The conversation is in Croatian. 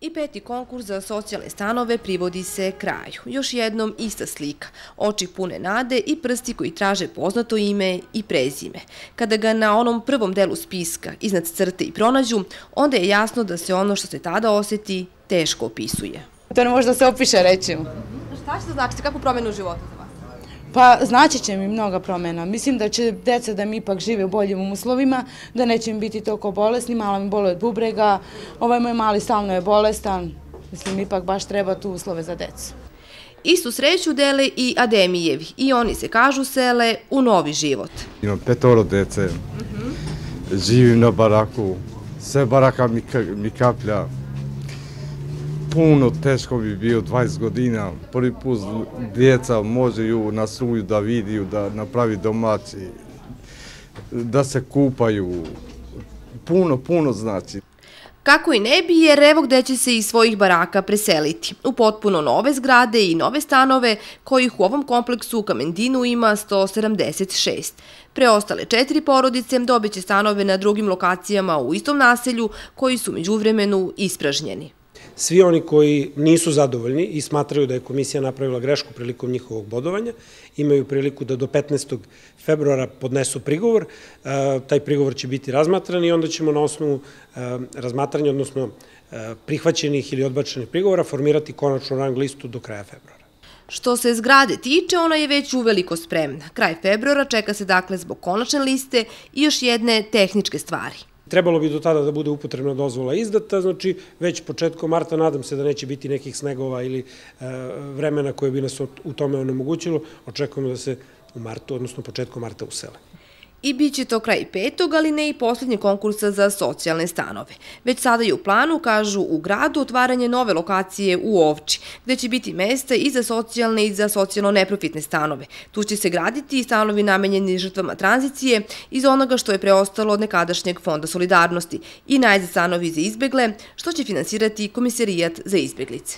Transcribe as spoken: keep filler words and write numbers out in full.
I peti konkurs za socijalne stanove privodi se kraju. Još jednom ista slika, oči pune nade i prsti koji traže poznato ime i prezime. Kada ga na onom prvom delu spiska iznad crte i pronađu, onda je jasno da se ono što se tada osjeti teško opisuje. To ne može da se opiše, rećemo. Šta će to značiti? Kakvu promjenu u životu za vas? Pa znači će mi mnoga promjena. Mislim da će deca da mi ipak žive u boljim uslovima, da neće mi biti toliko bolesni, mala mi boli od bubrega, ovaj moj mali stalno je bolestan. Mislim, ipak baš treba tu uslove za decu. Istu sreću dele i Ademijevi i oni se, kažu, sele u novi život. Imam petoro dece, živim na baraku, sve baraka mi kaplja. Puno teško bi bio dvadeset godina, prvi put djeca možeju na struju da vidiju, da napravi domaći, da se kupaju, puno, puno znači. Kako i ne bi, jer evo gde će se iz svojih baraka preseliti. U potpuno nove zgrade i nove stanove, kojih u ovom kompleksu u Kamendinu ima sto sedamdeset šest. Preostale četiri porodice dobit će stanove na drugim lokacijama u istom naselju, koji su međuvremenu ispražnjeni. Svi oni koji nisu zadovoljni i smatraju da je komisija napravila grešku prilikom njihovog bodovanja, imaju priliku da do petnaestog februara podnesu prigovor. Taj prigovor će biti razmatran i onda ćemo na osnovu razmatranja, odnosno prihvaćenih ili odbačenih prigovora, formirati konačnu rang listu do kraja februara. Što se zgrade tiče, ona je već uveliko spremna. Kraj februara čeka se dakle zbog konačne liste i još jedne tehničke stvari. Trebalo bi do tada da bude upotrebna dozvola izdata, znači već početkom marta, nadam se da neće biti nekih snegova ili vremena koje bi nas u tome onemogućilo, očekujemo da se u martu, odnosno početkom marta usele. I bit će to kraj petog, ali ne i posljednje konkursa za socijalne stanove. Već sada je u planu, kažu u gradu, otvaranje nove lokacije u Ovči, gde će biti mesta i za socijalne i za socijalno neprofitne stanove. Tu će se graditi i stanovi namenjeni žrtvama tranzicije iz onoga što je preostalo od nekadašnjeg Fonda solidarnosti i najzad stanovi za izbegle, što će finansirati Komisarijat za izbeglice.